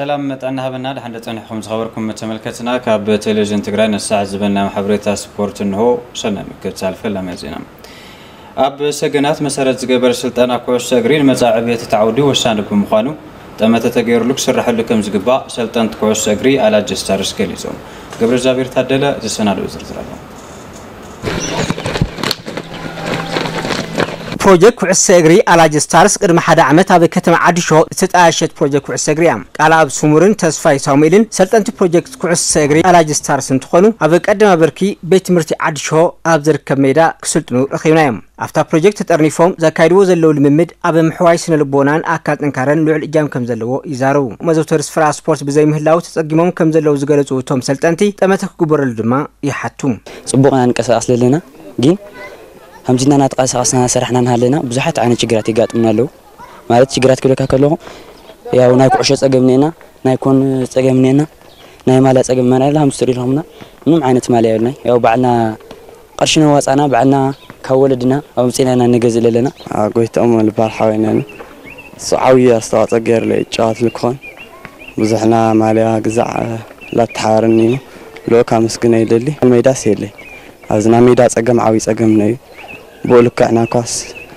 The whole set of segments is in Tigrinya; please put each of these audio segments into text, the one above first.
ሰላም ጥዕና ሃበና። ደሓን ዶ ጸኒሕኩም ዝኸበርኩም ተመልከትና? ካብ ቴሌቪዥን ትግራይ ነሳዕ ዝበና ሓበሬታ ስፖርት እንሆ። ሰናይ ምክትታል ፈላማይ ዜና። ኣብ ሰገናት መሰረት ዝገበር ስልጠና ኩዕሶ እግሪ ንመጻኢ ዕብየት እቲ ዓውዲ ወሳኒ ብምዃኑ ጠመተ ተገይሩሉ ክስረሐሉ ከም ዝግባእ ሰልጠንቲ ኩዕሶ እግሪ ኣላጅ ስታርስ ገሊጾም። ገብረ እግዚኣብሔር ታደለ ዝሰናድኦ ዝርዝር ኣሎ። ፕሮጀክት ኩዕሶ እግሪ ኣላጅ ስታርስ ቅድሚ ሓደ ዓመት ኣብ ከተማ ዓዲሾ ዝተጣየሸት ፕሮጀክት ኩዕሶ እግሪ እያ። ቃል ኣብ ስሙርን ተስፋይ ሳሙኤልን ሰልጠንቲ ፕሮጀክት ኩዕሶ እግሪ ኣላጅ ስታርስ እንትኾኑ፣ ኣብ ቀዳማይ ብርኪ ቤት ትምህርቲ ዓዲሾ ኣብ ዝርከብ ሜዳ ክስልጥኑ ረኺብናዮም። ኣብታ ፕሮጀክት ተጠርኒፎም ዘካይድዎ ዘለዉ ልምምድ ኣብ ምሕዋይ ስነ ልቦናን ኣካል ጥንካረን ልዑል እጃም ከም ዘለዎ ይዛረቡ። መዘውተሪ ስፍራ ስፖርት ብዘይምህላው ተጸጊሞም ከም ዘለዉ ዝገለጹ እቶም ሰልጠንቲ፣ ጠመተ ክግበረሉ ድማ ይሓቱ። ጽቡቕ ኢና ንቀሳቐስ ዘለና፣ ግን ከምዚ እና እናተቐሳቐስና ሰራሕና እናሃለና ብዙሓት ዓይነት ችግራት ይጋጥሙና ኣለዉ። ማለት ችግራት ክብለካ ከለኹ፣ ያው ናይ ኩዕሾ ጸገም እኒኤና፣ ናይ ኮን ጸገም እኒኤና፣ ናይ ማልያ ጸገም እኒኤና፣ ከምዚ ትሪኢ ኣለኹምና ምንም ዓይነት ማልያ የብልናይ። ያው ባዕልና ቅርሺ ነዋጻና፣ ባዕልና ካብ ወለድና ኣውጺእና ኢና ንገዝእ ዘለና። ኣጎይትኦም ልባል ሓወይና እዩ። እሱ ዓብዪ ኣስተዋጽኦ ገይሩለይ ይጫወት ልክኾን ብዙሕና ማልያ ግዛዕ ላተሓባረኒ እዩ። ልኡክ ኣመስግነ ይደሊ። ሜዳስ የለይ። ኣብዚ ናይ ሜዳ ጸገም ዓብዪ ጸገምና እዩ። ብኡ ልክዕ ናይ ኳስ፣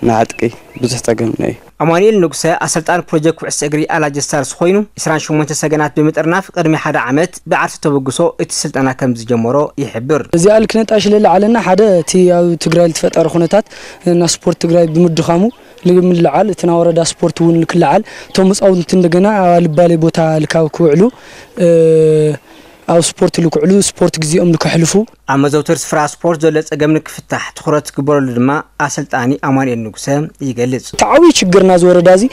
ናይ ዕጥቂ ብዙሕ ጸገምና እዩ። ኣማኑኤል ንጉሰ ኣሰልጣኒ ፕሮጀክት ኩዕሶ እግሪ ኣላጅ ስታርስ ኮይኑ፣ ዕስራን ሸሞንተ ሰገናት ብምጥርናፍ ቅድሚ ሓደ ዓመት ብዓርሰ ተበግሶ እቲ ስልጠና ከም ዝጀመሮ ይሕብር። እዚኣ ልክነጣ ሽለላ ዓለና ሓደ እቲ ኣብ ትግራይ ዝተፈጠረ ኩነታት እና ስፖርት ትግራይ ብምድኻሙ ልምልዓል፣ እቲ ናይ ወረዳ ስፖርት እውን ልክልዓል፣ እቶም ህፃውንቲ እንደገና ኣብ ኣልባሌ ቦታ ልካብ ክውዕሉ፣ እ፣ ኣብ ስፖርት ልክዕሉ፣ ስፖርት ግዜኦም ልከሕልፉ። ኣብ መዘውተሪ ስፍራ ስፖርት ዘሎ ጸገም ንክፍታሕ ትኹረት ክግበረሉ ድማ ኣሰልጣኒ ኣማኑኤል ንጉሰ ይገልጽ። እቲ ዓብዪ ችግርና ዝወረዳ እዚ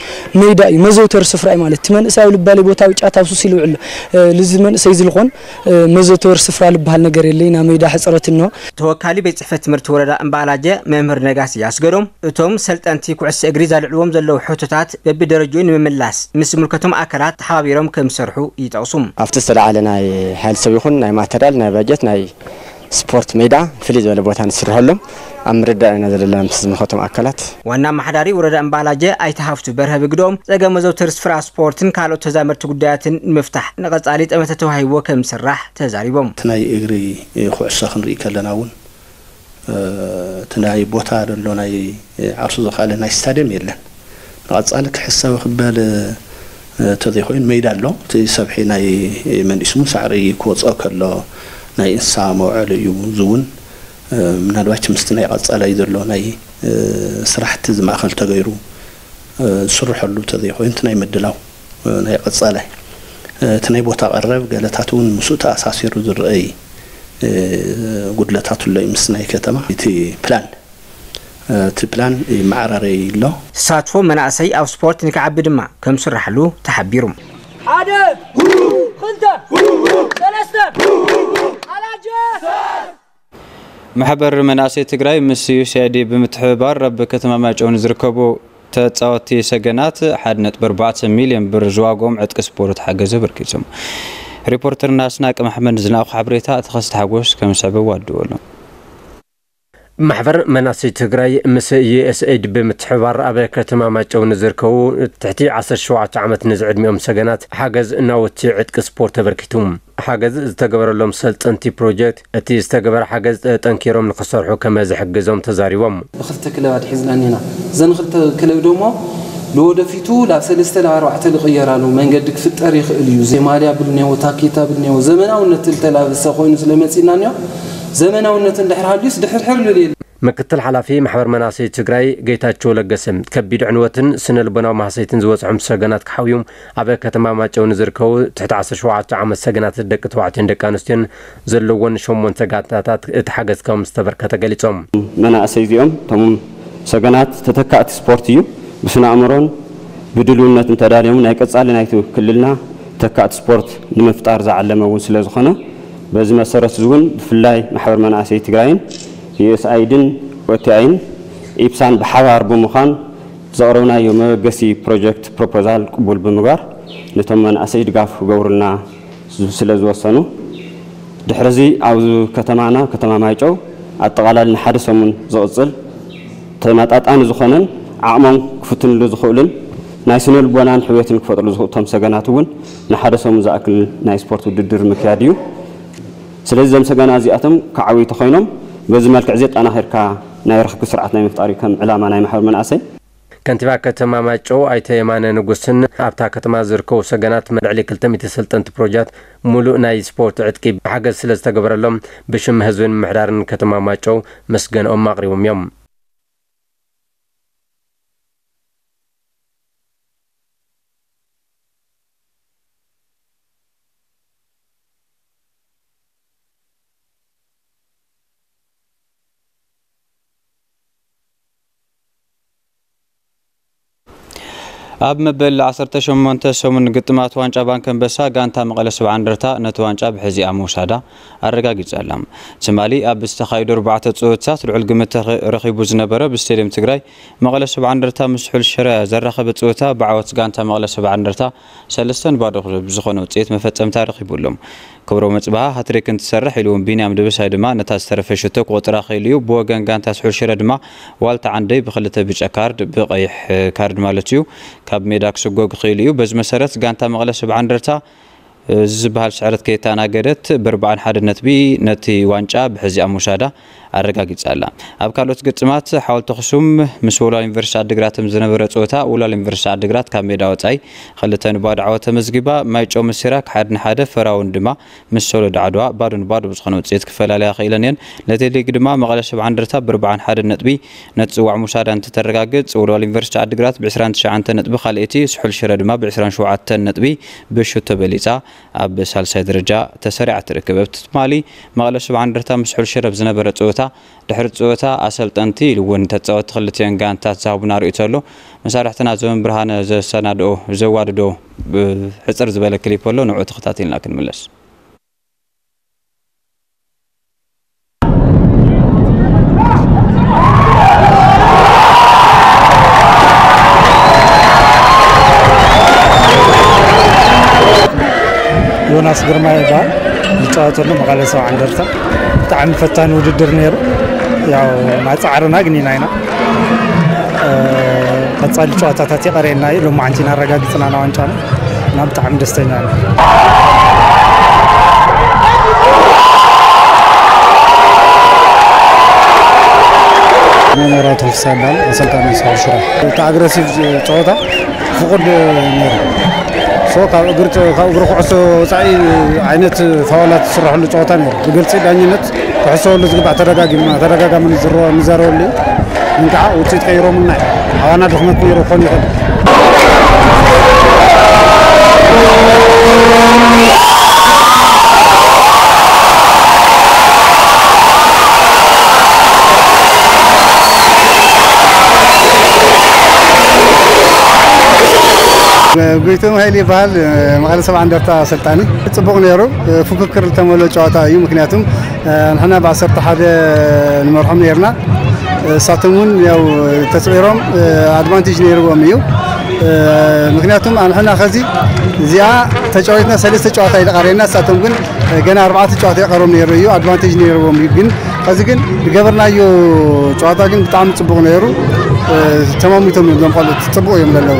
ሜዳ እዩ፣ መዘውተሪ ስፍራ እዩ ማለት። እቲ መንእሰይ ኣብ ልባሌ ቦታ ኣብ ጫት ኣብ ሱስ ኢሉ ይውዕል ኣሎ። እ፣ ልዚ መንእሰይ እዚ ልኾን፣ እ፣ መዘውተሪ ስፍራ ልበሃል ነገር የለይ፣ ናብ ሜዳ ሕጽረት እንሆ። ተወካሊ ቤት ጽሕፈት ትምህርቲ ወረዳ እምባላጀ መምህር ነጋሲ ኣስገዶም፣ እቶም ሰልጠንቲ ኩዕሶ እግሪ ዘልዕልዎም ዘለዉ ሕቶታት በብደረጅኡ ንምምላስ ምስ ዝምልከቶም ኣካላት ተሓባቢሮም ከም ዝሰርሑ ይጠቕሱ። ኣብቲ ዝተለዓለ ናይ ሓይሊ ሰብ ይኹን ናይ ማተርያል፣ ናይ ባጀት፣ ናይ ስፖርት ሜዳ ፍልይ ዝበለ ቦታ ንስርሐሎም ኣብ ምርዳእ ኢና ዘለና ምስ ዝምልከቶም ኣካላት። ዋና ኣመሓዳሪ ወረዳ እምባላጀ ኣይተ ሃፍቱ በርሀ ብግድኦም፣ ጸገም መዘውተሪ ስፍራ ስፖርትን ካልኦት ተዛመድቲ ጉዳያትን ንምፍታሕ ንቐጻሊ ጠመተ ተዋሂብዎ ከም ዝስራሕ ተዛሪቦም። እቲ ናይ እግሪ ኩዕሶ ክንርኢ ከለና እውን፣ እ፣ እቲ ናይ ቦታ ዘሎ ናይ ዓርሱ ዝኸኣለ ናይ ስታድየም የለን። ንቐጻሊ ክሕሰብ ክበል፣ እ፣ እንተዘይኮይኑ ሜዳ ኣሎ። እቲ ሰብሒ ናይ መንእሱ እውን ሳዕሪ ክወፅኦ ከሎ ናይ እንስሳ መውዓሊ እዩ። እዚ እውን፣ እ፣ ምናልባት ምስቲ ናይ ቀጻላይ ዘሎ ናይ፣ እ፣ ስራሕቲ እዚ ማእኸል ተገይሩ፣ እ፣ ዝስርሐሉ እንተዘይኮይኑ እቲ ናይ ምድላው፣ እ፣ ናይ ቀጻላይ፣ እ፣ እቲ ናይ ቦታ ቀረብ ገለታት እውን ምስኡ ተኣሳሲሩ ዝረኣይ፣ እ፣ ጉድለታት ኣሎ እዩ ምስ ናይ ከተማ። እቲ ፕላን፣ እ፣ እቲ ፕላን ይመዓራረይ ኣሎ። ተሳትፎ መናእሰይ ኣብ ስፖርት ንክዓቢ ድማ ከም ዝስራሕሉ ተሓቢሩ። ሓደ፣ ክልተ፣ ሰለስተ፣ ኣላጀ። ማሕበር መናእሰይ ትግራይ ምስ ዩ ኤስ ኤ ኣይ ዲ ብምትሕብባር ኣብ ከተማ ማይጨው ንዝርከቡ ተፃወትቲ ሰገናት ሓደ ነጥቢ ኣርባዕተ ሚልዮን ብር ዝዋግኦም ዕጥቂ ስፖርት ሓገዝ ኣበርኪቶም። ሪፖርተርና ኣስናቀ መሓመድ ዝለኣኾ ሓበሬታ ተኸስተ ሓጎስ ከም ዝስዕብ ኣዋድወሉ። ማሕበር መናእሰይ ትግራይ ምስ ዩ ኤስ ኤ ኣይ ዲ ብምትሕብባር ኣብ ከተማ ማይጨው ንዝርከቡ ትሕቲ ዓሰርተ ሸውዓተ ዓመት ንዝዕድሚኦም ሰገናት ሓገዝ ናውቲ ዕጥቂ ስፖርት ኣበርኪቱ። ሓገዝ ዝተገበረሎም ሰልጠንቲ ፕሮጀክት፣ እቲ ዝተገበረ ሓገዝ ጠንኪሮም ንክሰርሑ ከም ዝሕግዞም ተዛሪቦም። ብክልተ ክለባት ሒዝና እኒና። እዘን ክልተ ክለብ ደሞ ንወደፊቱ ላብ ሰለስተ ላብ ኣርባዕተ ልቕየራሉ መንገዲ ክፍጠር ይኽእል እዩ። ዘይ ማልያ ብል እኒኦ፣ ታኬታ ብል እኒኦ፣ ዘመናውነት ዝተላበሰ ኮይኑ ስለ መፂና እኒኦ፣ ዘመናውነት እንድሕር ሃልዩስ ድሕርሕር ልብል የለን። ምክትል ሓላፊ ማሕበር መናእሰይ ትግራይ ጌታቸው ለገሰ፣ ከቢድ ዕንወትን ስነ ልቦናዊ ማህሰይትን ዝበፅሖም ሰገናት ክሓውዩ ኣብ ከተማ ማጨው ንዝርከቡ ትሕቲ ዓሰርተ ሸውዓተ ዓመት ሰገናት ደቂ ተባዕትዮን ደቂ ኣንስትዮን ዘለዎን ሸሞንተ ጋንታታት እቲ ሓገዝ ከም ዝተበርከተ ገሊፆም። መናእሰይ እዚኦም እቶም ሰገናት ተተካእቲ ስፖርት እዩ። ብስነ ኣእምሮን ብድልውነትን ተዳልዮም ናይ ቀጻሊ ናይቲ ክልልና ተካእቲ ስፖርት ንምፍጣር ዝዓለመ እውን ስለ ዝኾነ፣ በዚ መሰረት እዚ እውን ብፍላይ ማሕበር መናእሰይ ትግራይን ዩ ኤስ ኣይድን ኦቲኣይን ኢፕሳን ብሓባር ብምዃን ዘቕረብናዮ መበገሲ ፕሮጀክት ፕሮፖዛል ቅቡል ብምግባር ነቶም መናእሰይ ድጋፍ ክገብሩልና ዝ-፣ ስለ ዝወሰኑ፣ ድሕሪ እዚ ኣብ ከተማና፣ ከተማ ማይጨው፣ ኣጠቓላሊ ንሓደ ሰሙን ዝቕጽል ተመጣጣኒ ዝኾነን ዓቕሞም ክፍትንሉ ዝኽእሉን ናይ ስነ ልቦናን ሕውየትን ክፈጥሩ ዝኽእሉ እቶም ሰገናት እውን ንሓደ ሰሙን ዝኣክል ናይ ስፖርት ውድድር ምክያድ እዩ። ስለዚ እዞም ሰገናት እዚኣቶም ክዓብዩ ተኾይኖም በዚ መልክዕ እዚ ኣጠናኺርካ ናይ ርኽክብ ስርዓት ናይ ምፍጣር እዩ ከም ዕላማ ናይ ማሕበር መናእሰይ። ከንቲባ ከተማ ማይጨው ኣይተ የማነ ንጉስን ኣብታ ከተማ ዝርከቡ ሰገናት ልዕሊ ክልተ ሚእቲ ሰልጠንቲ ፕሮጀክት ሙሉእ ናይ ስፖርት ዕጥቂ ብሓገዝ ስለ ዝተገበረሎም ብሽም ህዝብን ምምሕዳርን ከተማ ማይጨው ምስገንኦም ኣቕሪቦም እዮም። ኣብ መበል ዓሰርተ ሸሞንተ ሰሙን ግጥማት ዋንጫ ባንክ ኣንበሳ ጋንታ መቐለ ሰብዓ እንደርታ ነቲ ዋንጫ ብሕዚኣ ምውሳዳ ኣረጋጊጻ ኣላ። ትማሊ ኣብ ዝተኻየዱ ኣርባዕተ ጸወታታት ልዑል ግምት ተኸ-፣ ረኺቡ ዝነበረ ብስቴድየም ትግራይ መቐለ ሰብዓ እንደርታ ምስ ስሑል ሽረ ዘራኸበ ጸወታ ብዓወት ጋንታ መቐለ ሰብዓ እንደርታ ሰለስተ ንባዶ ብዝኾነ ውጽኢት መፈጸምታ ረኺቡ ኣሎ። ክብሮም ኣጽብሃ ሃትሪክ እንትሰርሕ ኢሉ እውን ቢንያም ደበሳይ ድማ ነታ ዝተረፈ ሽቶ ክቆጽራ ክኢሉ እዩ። ብወገን ጋንታ ስሑል ሽረ ድማ ዋልታ ዓንደይ ብክልተ ብጫ ካርድ፣ ብቐይሕ ካርድ ማለት እዩ፣ ካብ ሜዳ ክስጎግ ክኢሉ እዩ። በዚ መሰረት ጋንታ መቐለ ሰብዓ እንደርታ እዚ ዝበሃል ስዕረት ከይተኣናገደት ብኣርብዓን ሓደን ነጥቢ ነቲ ዋንጫ ብሕዚኣ ምውሳዳ ኣረጋጊጻ ኣላ። ኣብ ካልኦት ግጥማት ሓወልቲ ኣኽሱም ምስ ወልዋሎ ዩኒቨርሲቲ ዓዲግራት ዝነበረ ጸወታ ወልዋሎ ዩኒቨርሲቲ ዓዲግራት ካብ ሜዳ ወጻኢ ክልተ ንባዶ ዓወት ተመዝጊባ። ማይጨው ምስ ሲራክ ሓደ ንሓደ፣ ፈራውን ድማ ምስ ሶሎዳ ዓድዋ ባዶ ንባዶ ብዝኾነ ውጽኢት ክፈላለያ ክኢለን እየን። ነቲ ሊግ ድማ መቐለ ሰብዓ እንደርታ ብኣርብዓን ሓደን ነጥቢ ነቲ ጽዋዕ ምውሳዳ እንትተረጋግጽ፣ ወልዋሎ ዩኒቨርሲቲ ዓዲግራት ብዕስራን ትሽዓተ ነጥቢ ካልኣይቲ፣ ስሑል ሽረ ድማ ብዕስራን ሸውዓተን ነጥቢ ብሽቶ በሊጻ ኣብ ሳልሳይ ደረጃ ተሰሪዓ ትርከብ። ኣብቲ ትማሊ መቐለ ሰብዓ እንደርታ ምስ ስሑል ሽረ ኣብ ዝነበረ ጸወታ፣ ድሕሪ ጸወታ ኣሰልጠንቲ ኢሉ እውን ተጻወትቲ ክልቲአን ጋንታት ዝሃቡና ርእይቶ ኣሎ። መሳርሕትና ዘመን ብርሃነ ዘሰናድኦ፣ ዘዋድዶ፣ ብ-፣ ሕጽር ዝበለ ክሊፕ ኣሎ፣ ንዕኡ ተኸታቲልና ክንምለስ። ዮናስ ግርማ ይበሃል። ዝጫወተሉ መቐለ ሰብዓ እንደርታ። ብጣዕሚ ፈታኒ ውድድር ነይሩ። ያው፣ ማጻዕርና ግን ኢና ኢና። እ፣ ቀጻሊ ጨዋታታት ይቐረየና እዩ። ሎማዓንቲ ኢና ኣረጋጊጽና ና ዋንጫና። እና ብጣዕሚ ደስተኛ ነኝ። መምህራቱ ክሳይ ይበሃል፣ ኣሰልጣኒ ስሑል ሽረ። እቲ ኣግረሲቭ ጸወታ ፍቑድ ነይሩ። ሶ ካብ እግሪ ጸ-፣ ካብ እግሪ ኩዕሶ ወጻኢ ዓይነት ፋውላት ዝስረሐሉ ጸወታ ነይሩ። ብግልጺ ዳኝነት ክሕሰበሉ ዝግባእ ተደጋጊምና፣ ተደጋጋሚ ንዝረ-፣ ንዛረበሉ እዩ። ግን ከዓ ውጽኢት ቀይሮምልና እዮም። ኣባና ድኽመት ነይሩ ክኾን ይኽእል። ጎይቶም ሃይለ ይበሃል፣ መቐለ ሰብዓ እንደርታ ኣሰልጣኒ። ጽቡቕ ነይሩ፣ ፍክክር ዝተመልኦ ጨዋታ እዩ። ምክንያቱም ንሕና ብዓሰርተ ሓደ ንመርሖም ነይርና። እሳቶም እውን ያው ተጽዒሮም ኣድቫንቴጅ ነይርዎም እዩ። ምክንያቱም ንሕና ከዚ እዚኣ ተጫዊትና ሰለስተ ጨዋታ እዩ ተቃሪና፣ እሳቶም ግን ገና ኣርባዕተ ጨዋታ ይቀሮም ነይሩ እዩ፣ ኣድቫንቴጅ ነይርዎም እዩ። ግን ከዚ ግን ዝገበርናዮ ጨዋታ ግን ብጣዕሚ ጽቡቕ ነይሩ። ተማሚቶም እዮም እዞም ቆልዑት፣ ጽቡቕ እዮም ዘለዉ።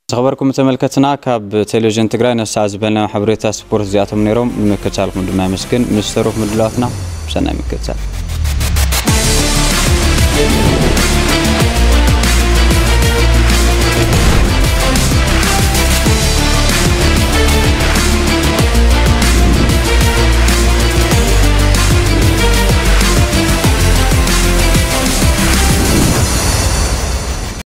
ዝኸበርኩም ተመልከትና፣ ካብ ቴሌቪዥን ትግራይ ነሳዕ ዝበልና ሓበሬታ ስፖርት እዚኣቶም ነይሮም። ንምክትታልኩም ድማ የመስግን። ምስ ተረፉ ምድላዋትና ብሰናይ ምክትታል።